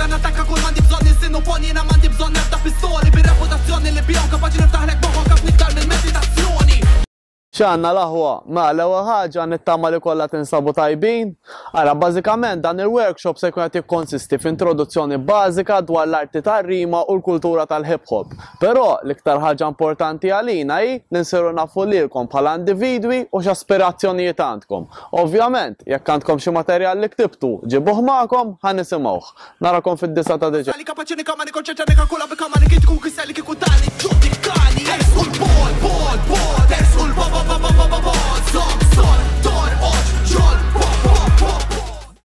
Meta nattakka kull m'għandi bżonn insin u pon jiena m'għandi bżonn ebda pistoli bir-reputazzjoni li bihom kapaċi niftaħlek moħħok ħafna iktar mill-meditazzjoni. X'għandna l-aħwa? Mela l-ewwel ħaġa nittama li kollha tinsabu tajbin. Ara, bażikament dan il-workshop se jkun qed jikkonsisti f'introduzzjoni bażika dwar l-arti tar-rima u l-kultura tal-hip hop. Però l-iktar ħaġa importanti għalina hi li nsiru nafu lilkom bħala individwi u x'aspirazzjonijiet għandkom. Ovvjament, jekk għandkom xi materjal li ktibtu, ġibuh magħkom ħa nisimgħuh. Narakom fid-disgħa ta' Diċembru.